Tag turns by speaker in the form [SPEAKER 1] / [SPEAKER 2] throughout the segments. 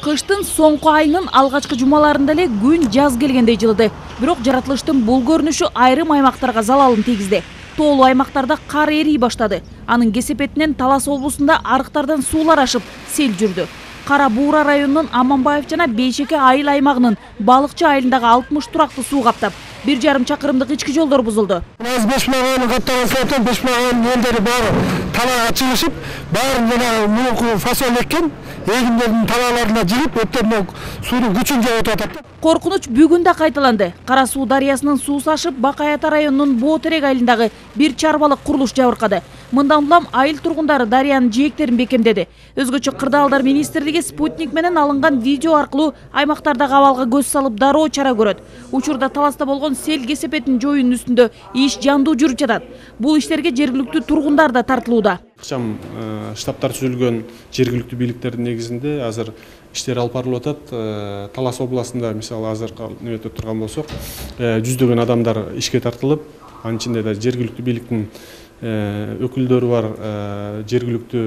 [SPEAKER 1] Кыштын соңку айынын алгачкы жумаларында эле күн жаз келгендей жылыды. Бирок жаратылыштын бул көрүнүшү айрым аймактарга залалын тийгизди. Тоолуу аймактарда кар эрий баштады. Анын кесепетинен Талас облусунда арыктардан суулар ашып, сел жүрдү. Кара Буура районунун Аманбаев жана Бейшеке айыл аймагынын Балыкчы айылындагы 60 туракты суу каптап, 1,5 чакырымдык ички жолдор бузулду.
[SPEAKER 2] 5 миллион каттаган 5 миллион элдери баары талаага чыгышып, баарын жана мурунку фасол эккен эгиндердин талааларына жигип, өттөн суунун күчүн жоготуп атат.
[SPEAKER 1] Коркунуч бүгүн да кайталанды. Кара Суу дарыясынын суусу ашып, Бакаята районунун Боотерек айылындагы бир чарбалык курулуш жабыркады. Мындан улам айыл тургундары дарыянын жээктерин бекемдеди. Өзгөчө кырдаалдар министрлиги спутник менен алынган видео аркылуу аймактардагы абалга көз салып дароо чара көрөт. Учурда Таласта болгон сел кесепетин жоюунун үстүндө иш жандуу жүрүп жатат. Бул иштерге жергиликтүү тургундар да тартылууда.
[SPEAKER 3] Ыкчам штабтар түзүлгөн жергиликтүү бийликтердин негизинде азыр иштер алып барылып атат. Талас областында мисалы азыр неметип турган болсок, жүздөгөн адамдар ишке тартылып, анын ичинде да жергиликтүү бийликтин өкүлдөрү бар, жергиликтүү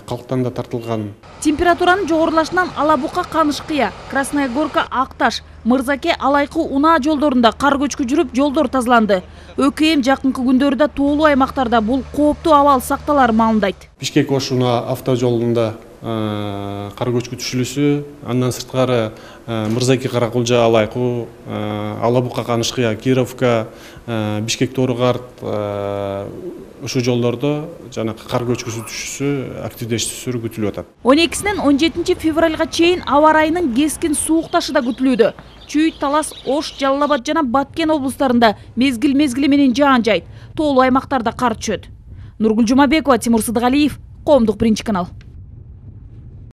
[SPEAKER 3] калктан да тартылган.
[SPEAKER 1] Температуранын жогорулашынан Алабука Канышкыя, Красная Горка Акташ, Мырзаке Алайкы унаа жолдорунда кар көчкү жүрүп, жолдор тазаланды. ÖKM жакынкы күндөрдө тоолуу аймактарда бул кооптуу абал сакталары маалымдайт.
[SPEAKER 3] Бишкек Ош унаа автожолунда кар көчкү түшүлүшү, андан сырткары Мырзаке Каракулжа Алайкы, Алабука Канышкыя, Кировка, Бишкек Торгарт ушул жолдордо жана кар көчкүсү түшүүсү, активдешүүсү күтүлүп атат.
[SPEAKER 1] 12-синен 17 февралга чейин аба ырайынын кескин суукташы да күтүлүүдө. Чүй, Талас, Ош, Жалал Абад жана Баткен облустарында мезгил менен жаан жайт. Тоолуу аймактарда кар түшөт. Нургүл Жумабекова, Тимур Сыдыгалиев, Коомдук биринчи канал.